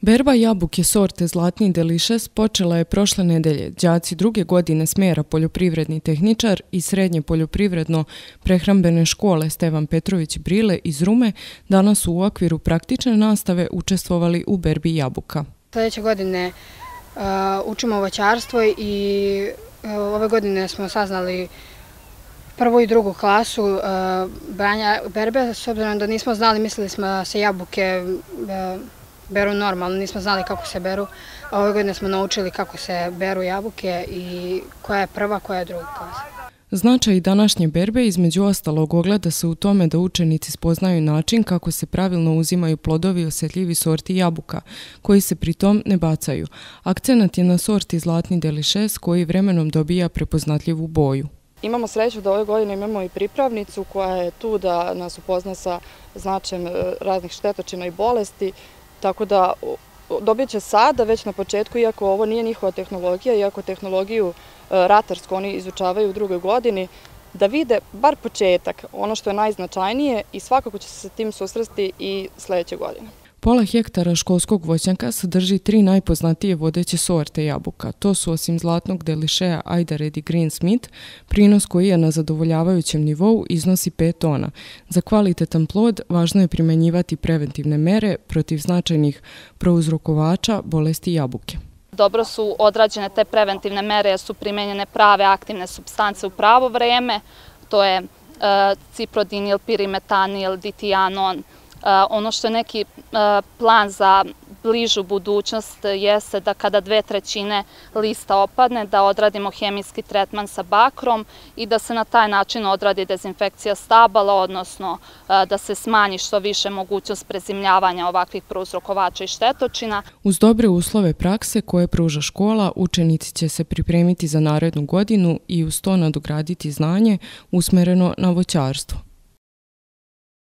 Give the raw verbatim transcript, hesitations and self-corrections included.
Berba jabuke sorte Zlatni Delicious počela je prošle nedelje. Đaci druge godine smjera poljoprivredni tehničar i srednje poljoprivredno-prehrambene škole Stevan Petrović Brile iz Rume danas su u okviru praktične nastave učestvovali u berbi jabuka. Sljedeće godine uh, učimo voćarstvo i uh, ove godine smo saznali prvu i drugu klasu uh, branja berbe, s obzirom da nismo znali, mislili smo da se jabuke uh, beru normalno, nismo znali kako se beru. Ove godine smo naučili kako se beru jabuke i koja je prva, koja je druga klasa. Značaj današnje berbe između ostalog ogleda se u tome da učenici spoznaju način kako se pravilno uzimaju plodovi osjetljivi sorti jabuka, koji se pritom ne bacaju. Akcenat je na sorti Zlatni Delicious koji vremenom dobija prepoznatljivu boju. Imamo sreću da ove godine imamo i pripravnicu koja je tu da nas upozna sa značajem raznih štetočina i bolesti, tako da dobit će sada, već na početku, iako ovo nije njihova tehnologija, iako tehnologiju ratarsku oni izučavaju u drugoj godini, da vide bar početak, ono što je najznačajnije i svakako će se sa tim susresti i sljedeće godine. Pola hektara školskog voćnjaka sadrži tri najpoznatije vodeće sorte jabuka. To su osim Zlatnog Deliciousa Ajdared i Green Smith, prinos koji je na zadovoljavajućem nivou iznosi pet tona. Za kvalitetan plod važno je primjenjivati preventivne mere protiv značajnih prouzrokovača bolesti jabuke. Dobro su odrađene te preventivne mere jer su primjenjene prave aktivne supstance u pravo vreme. To je ciprodinil, pirimetanil, ditianon. Ono što je neki plan za bližu budućnost jeste da kada dve trećine lista opadne, da odradimo hemijski tretman sa bakrom i da se na taj način odradi dezinfekcija stabala, odnosno da se smanji što više mogućnost prezimljavanja ovakvih prouzrokovača i štetočina. Uz dobre uslove prakse koje pruža škola, učenici će se pripremiti za narednu godinu i uz to nadograditi znanje usmereno na voćarstvo.